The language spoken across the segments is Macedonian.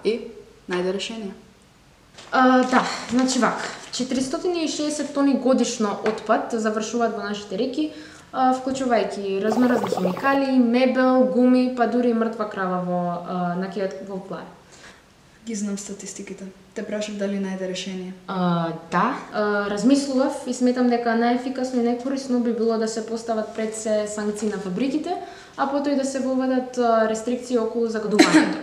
најде решение. Да, значи вака. 460 тони годишно отпад завршуваат во нашите реки, вклучувајќи разноразни химикали, мебел, гуми, па дури и мртва крава на кејот во плаја. Ги знам статистиките. Те прашав дали најде решение. Да, размислував и сметам дека најефикасно и најкорисно би било да се постават пред се санкции на фабриките, а потоа и да се воведат рестрикции околу загадувањето.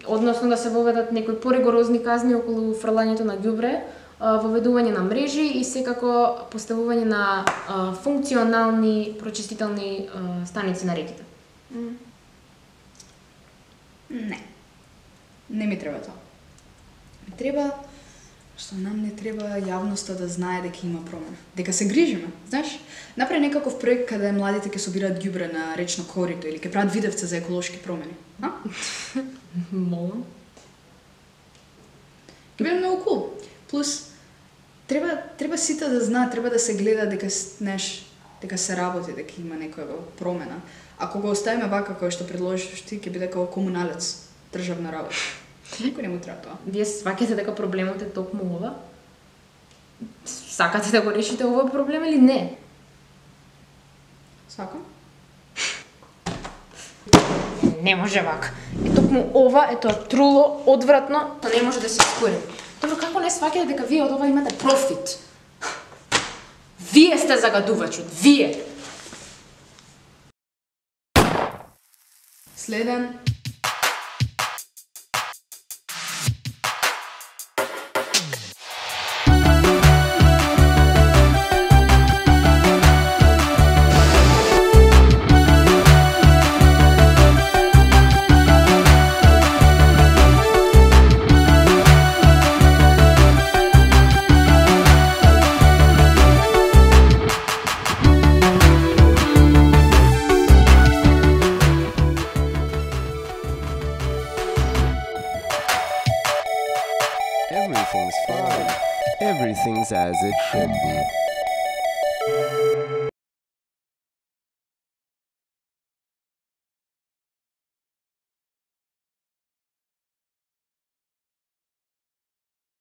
Односно да се воведат некои поригорозни казни околу фрлањето на ѓубре, воведување на мрежи и секако поставување на функционални прочистителни станици на реките. Не ми треба тоа. Треба, што нам не треба јавноста да знае дека има промена. Дека се грижиме, знаеш? Направи некаков проект каде младите ќе собираат ѓубре на речно корито или ќе прават видевца за еколошки промени. Молам. Ќе биде многу кул. Плюс, треба сите да знаат, треба да се гледа дека, дека се работи, дека има некоја промена. Ако го оставиме вака кој што предложиш ти, ќе биде како комуналец, државна работа. Никој не му треба тоа. Вие сваќате дека проблемот е токму ова? Сакате да го решите овој проблем или не? Сакам. Не може вака. Токму ова е тоа труло, одвратно, тоа не може да се искорени. Добро, како не сваќате дека вие од ова имате профит? Вие сте загадувачот, вие! Следен. Everything's fine. Everything's as it should be.